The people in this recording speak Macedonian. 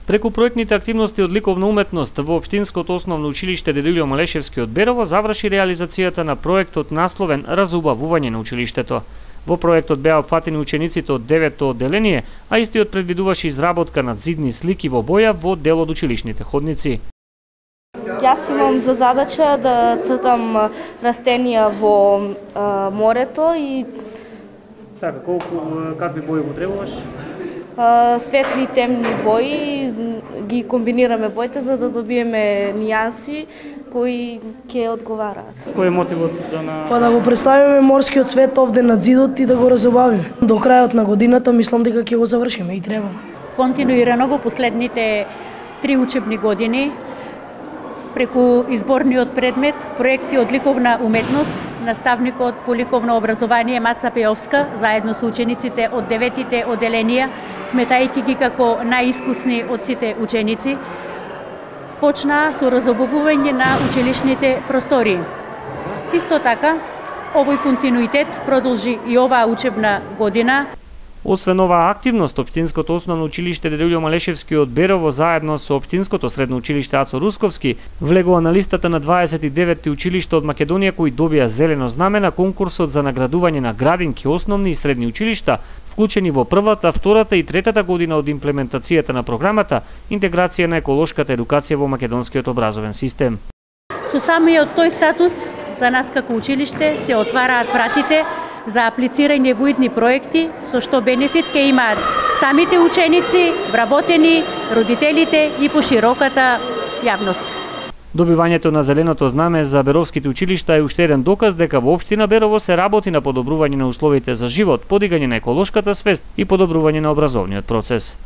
Преку проектните активности од ликовна уметност во Општинското основно училиште Дедо Малешевски од Берово заврши реализацијата на проектот насловен Разубавување на училиштето. Во проектот беа опфатени учениците од 9-то одделение, а истиот предвидуваше изработка на зидни слики во боја во дел од училишните ходници. Јас имам за задача да цртам растенија во морето и Така, какви бои го требуваш? Светли и темни бои, ги комбинираме боите за да добиеме нијанси кои ќе одговараат. Кој е мотивот да го представиме морскиот свет овде на зидот и да го разубавиме. До крајот на годината мислам дека ќе го завршиме и треба. Континуирано во последните 3 учебни години преку изборниот предмет, проекти од ликовна уметност, наставникот по ликовно образование Маца Пеовска, заедно со учениците од 9-тите одделенија, сметајќи ги како најискусни од сите ученици, почна со разубавување на училишните простории. Исто така, овој континуитет продолжи и оваа учебна година. Освен оваа активност, Општинското основно училиште Дедо Малешевски од Берово заедно со Општинското средно училиште Ацо Русковски влегува на листата на 29 училишта од Македонија кои добија зелено знаме на конкурсот за наградување на градинки основни и средни училишта, вклучени во првата, втората и третата година од имплементацијата на програмата Интеграција на еколошката едукација во македонскиот образовен систем. Со самиот тој статус за нас како училиште се отвараат вратите за аплицирање во идни проекти, со што бенефит ќе имаат самите ученици, вработени, родителите и пошироката јавност. Добивањето на зеленото знаме за беровските училишта е уште еден доказ дека во општина Берово се работи на подобрување на условите за живот, подигање на еколошката свест и подобрување на образовниот процес.